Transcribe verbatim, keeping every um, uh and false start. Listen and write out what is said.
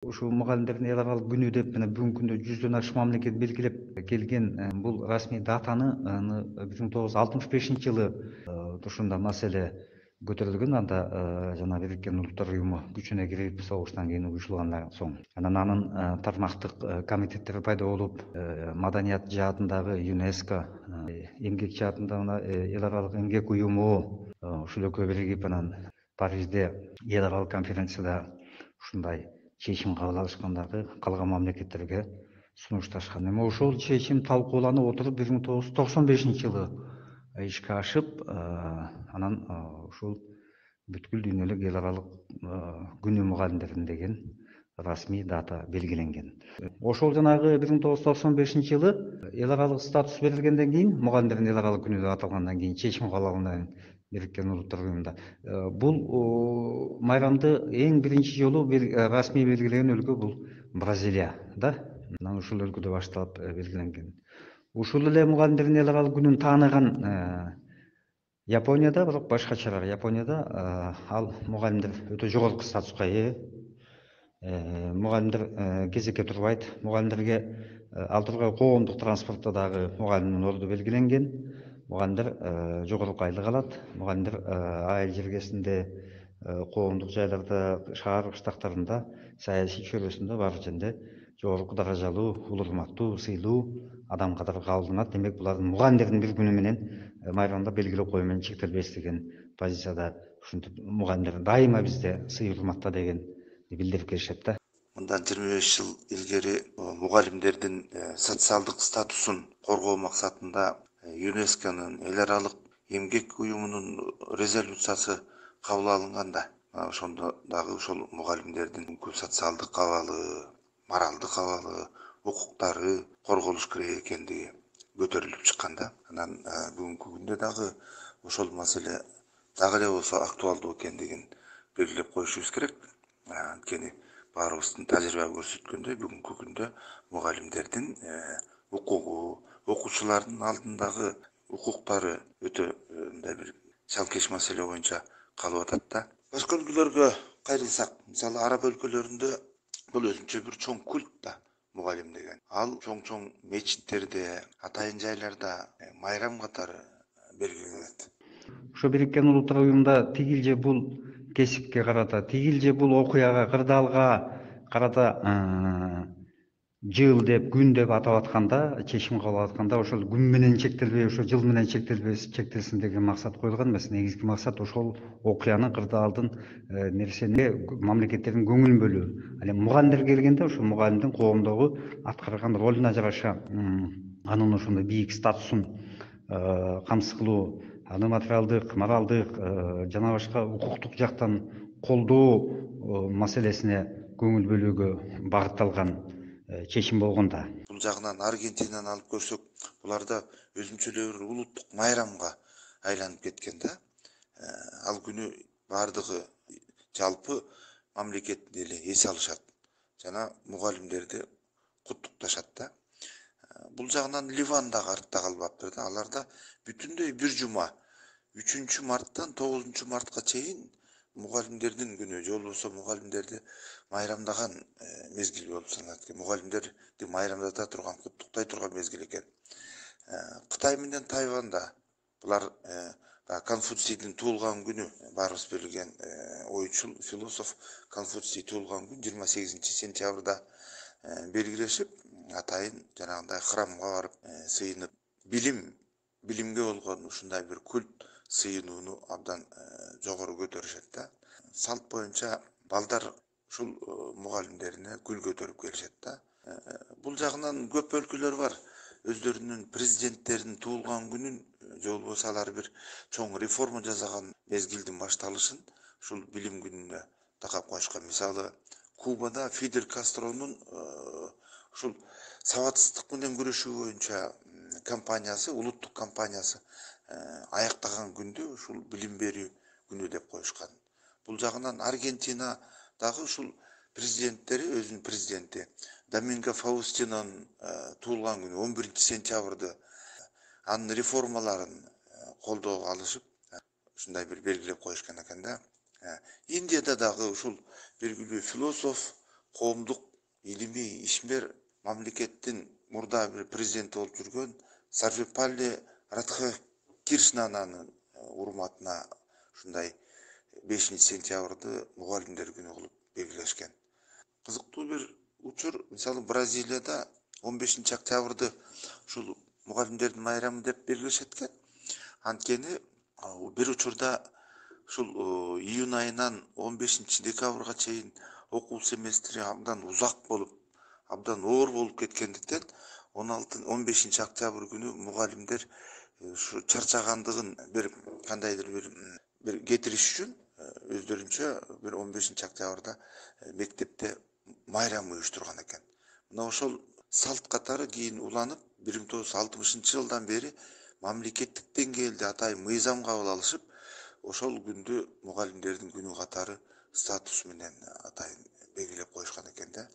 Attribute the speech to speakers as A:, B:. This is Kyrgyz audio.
A: Ушул мугалимдердин эл аралык күнү деп мына бүгүнкү күндө жүздөн ашык мамлекет белгилеп келген бул расмий датаны бир миң тогуз жүз алтымыш бешинчи жылы ушундай маселе көтөрүлгөн. Анда жана Бириккен Улуттар Уюму күчүнө кирип согуштан кийин уюшулгандан соң анан анын тармактык комитеттери пайда болуп, маданият жаатындагы ЮНЕСКО, эмгек жаатында мына эл аралык эмгек уюму ушул экөө биригип анан Парижде эл аралык конференцияда ушундай чечим кабыл алышкан дагы калган мамлекеттерге сунушташкан. Эми ошол чечим талкууланып отуруп бир миң тогуз жүз токсон бешинчи жылы ишке ашып, анан ушул бүткүл дүйнөлүк эл аралык күнү мугалимдердин деген расмий дата белгиленген. Ошол жанагы бир миң тогуз жүз токсон бешинчи жылы эл аралык статус берилгенден кийин, мугалимдердин эл аралык күнү деп аталгандан кийин, чечим кабыл алгандан кийин Бириккен Улуттар Уюмунда бул майрамды эң биринчи жолу расмий белгилеген өлкө бул Бразилия да. Анан ушул өлкөдө башталып белгиленген. Ушул эле мугалимдердин эл аралык күнүн тааныган Японияда, бирок башкачараак. Японияда ал мугалимдер өтө жогорку статуска ээ. Мугалимдер кезекке турбайт. Мугалимдерге ал тургай коомдук транспортто дагы мугалимдин орду белгиленген. Мугалимдер жогорку айлык алат. Мугалимдер айыл жергесинде, коомдук жайларда, шаар кыштактарында, саясий чөйрөсүндө баары жерде жогорку даражалуу, улуу урматтуу, сыйлуу адам катары кабылданат. Демек, булардын мугалимдердин бир күнү менен майрамда белгилеп коюу менен чектелбес деген позицияда ушинтип мугалимдер дайыма бизде сый урматта деген билдирип келишет да.
B: Мындан жыйырма беш жыл илгери мугалимдердин социалдык статусун коргоо максатында ЮНЕСКОнун эл аралык эмгек уюмунун резолюциясы кабыл алынганда, ошондо дагы ошол мугалимдердин социалдык абалы, моралдык абалы, укуктары корголуш керек экендиги көтөрүлүп чыккан да. Анан бүгүнкү күндө дагы ошол маселе дагы эле болсо актуалдуу экендигин белгилеп коюшубуз керек. Анткени баарыбыздын тажрыйба көрсөткөндөй, бүгүнкү күндө мугалимдердин укугу, окуучулардын алдындагы укуктары өтө мындай бир чалкеш маселе боюнча калып атат да. Башка өлкөлөргө кайрылсак, мисалы араб өлкөлөрүндө бул өзүнчө бир чоң культ да, мугалим деген. Ал чоң-чоң мечиттерде, атайын жайларда майрам катары белгиленет.
A: Ошо Бириккен Улуттар Уюмунда тигил же бул кесипке карата, тигил же бул окуяга, кырдаалга карата жыл деп, күн деп атап атканда, чечим кабыл алып атканда, ошол күн менен чектелбей, ошо жыл менен чектелбес, чектелсин деген максат коюлган эмес. Негизги максат ошол окуяны, кырдаалдын, нерсени мамлекеттердин көңүлүн бөлүү. Ал эми мугалимдерге келгенде, ошо мугалимдин коомдогу аткарган ролуна жараша анын ошондой бийик статусун камсыз кылуу, аны материалдык, моралдык жана башка укуктук жактан колдоо маселесине көңүл бөлүүгө багытталган чечим болгон да.
B: Бул жагынан Аргентинаны алып көрсөк, буларда өзүнчө эле бир улуттук майрамга айланып кеткен да. Ал күнү баардыгы жалпы мамлекетти эле эс алышат жана мугалимдерди куттукташат да. Бул жагынан Ливан дагы артта калбаптыр да. Аларда бүтүндөй бир жума үчүнчү марттан тогузунчу мартка чейин мугалимдердин күнү, же болбосо мугалимдерди майрамдаган мезгил болуп саналат экен. Мугалимдерди майрамдата турган, куттуктай турган мезгил экен. Кытай менен Тайванда булар Конфуцийдин туулган күнү, баарыбыз билген ойчул, философ Конфуций туулган күн жыйырма сегизинчи сентябрда белгилешип, атайын жанагындай храмга барып сыйынып, билим, билимге болгон ушундай бир культ сыйынууну абдан жогору көтөрүшөт да. Салт боюнча балдар ушул мугалимдерине гүл көтөрүп келишет да. Бул жагынан көп өлкөлөр бар. Өздөрүнүн президенттеринин туулган күнүн, же болбосо алар бир чоң реформа жасаган мезгилдин башталышын ушул билим күнүнө такап коюшкан. Мисалы, Кубада Фидель Кастронун ушул сабатсыздык менен күрөшүү боюнча компаниясы, улуттук компаниясы аяктаган күндү ушул билим берүү күнү деп коюшкан. Бул жагынан Аргентина дагы ушул президенттери, өзүнүн президенти Доминго Фаустинонун туулган күнү он биринчи сентябрды анын реформаларын колдоого алышып, ушундай бир белгилеп коюшкан экен да. Индияда дагы ушул белгилүү философ коомдук илимий ишмер мамлекеттин мурда бир президенти болуп жүргөн Сарвепалли Радхакришнанын урматына ушундай бешинчи сентябрды мугалимдер күнү кылып белгилешкен. Кызыктуу бир учур, мисалы Бразилияда он бешинчи октябрды ушул мугалимдердин майрамы деп белгилешет экен. Анткени бир учурда ушул июнь айынан он бешинчи декабрга чейин окуу семестри абдан узак болуп, абдан оор болуп кеткендиктен он алтынчы он бешинчи октябрь күнү мугалимдер ушу чарчагандыгын бир кандайдыр бир бир кетириш үчүн өздөрүнчө бир он бешинчи октябрда мектепте майрам уюштурган экен. Мына ошол салт катары кийин уланып, бир миң тогуз жүз алтымышынчы жылдан бери мамлекеттик деңгээлде атайын мыйзам кабыл алышып, ошол күндү мугалимдердин күнү катары статус менен атайын белгилеп коюшкан экен да.